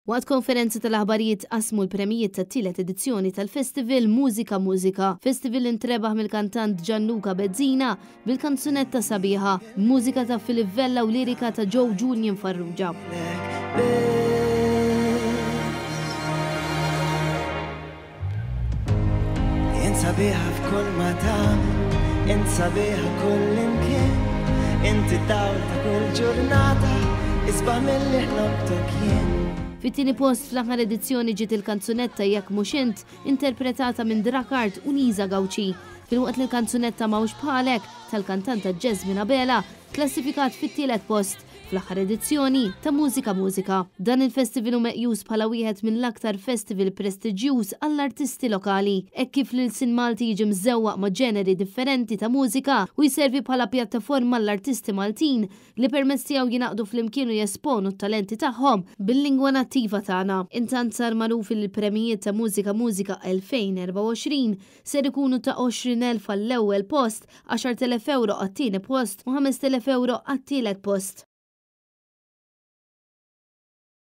Waqt konferenza tal-aħbarijiet tqassmu l-premijiet tat-tielet edizzjoni tal-festival Mużika Mużika. Festival li ntrebaħ mill-kantant Gianluca Bezzina bil-kanzunetta Sabiħa, b'mużika ta' Philip Vella u lirika ta' Joe Julian Farrugia. Int sabiħa f'kull ma tagħmel, int sabiħa kull imkien, inti d-dawl ta' kull ġurnata, isbaħ milli ħlomtok jien. Fit-tieni post fl-aħħar edizzjoni ġiet il-kanzunetta Jekk Mhux Int, interpretata minn Drakard u Lisa Gauci, filwaqt li l-kanzunetta M'hawnx Bħalek tal-kantanta Jasmine Abela tklassifikat fit-tielet post. fl-aħħar edizzjoni ta' Mużika Mużika. Dan il-festival hu meqjus bħala wieħed mill-aktar festival prestiġjuż għall-artisti lokali, hekk kif l-ilsien Malti jiġi mżewwaq ma' ġeneri differenti ta' mużika u jservi bħala pjattaforma għall-artisti Maltin li permezz tiegħu jingħaqdu flimkien u jesponu t-talenti tagħhom bil-lingwa nattiva tagħna. Intant sar magħruf li l-premjijiet ta' Mużika Mużika 2024 ser ikunu ta' 20,000 għall-ewwel post, 10,000 ewro għat-tieni post u 5,000 ewro għat-tielet post.